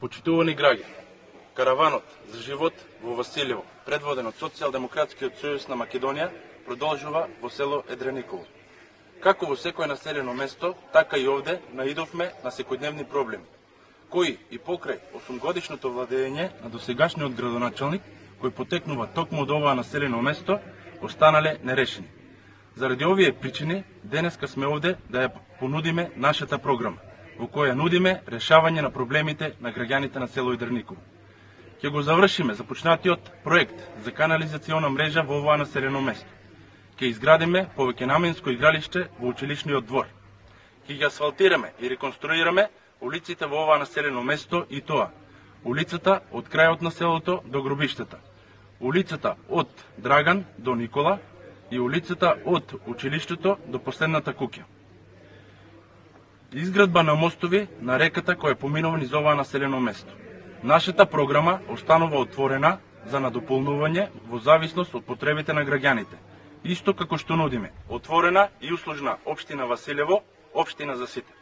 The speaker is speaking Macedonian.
Почитувани граѓани, караванот за живот во Василево, предводен од Социјалдемократскиот сојуз на Македонија, продолжува во село Едрениково. Како во секое населено место, така и овде наидовме на секојдневни проблеми, кои и покрај 8-годишното владење на досегашниот градоначалник, кој потекнува токму од оваа населено место, останале нерешени. Заради овие причини, денеска сме овде да ја понудиме нашата програма, во која нудиме решавање на проблемите на граѓаните на село Едрениково. Ќе го завршиме започнатиот проект за канализациона мрежа во оваа населено место. Ќе изградиме повеќенаменско игралиште во училишниот двор. Ќе ги асфалтираме и реконструираме улиците во оваа населено место и тоа: улицата од крајот на селото до гробиштата, улицата од Драган до Никола и улицата од училиштето до последната куќа. Изградба на мостови на реката која поминува низ оваа населено место. Нашата програма останува отворена за надополнување во зависност од потребите на граѓаните, исто како што нудиме отворена и услужна општина Василево, општина за сите.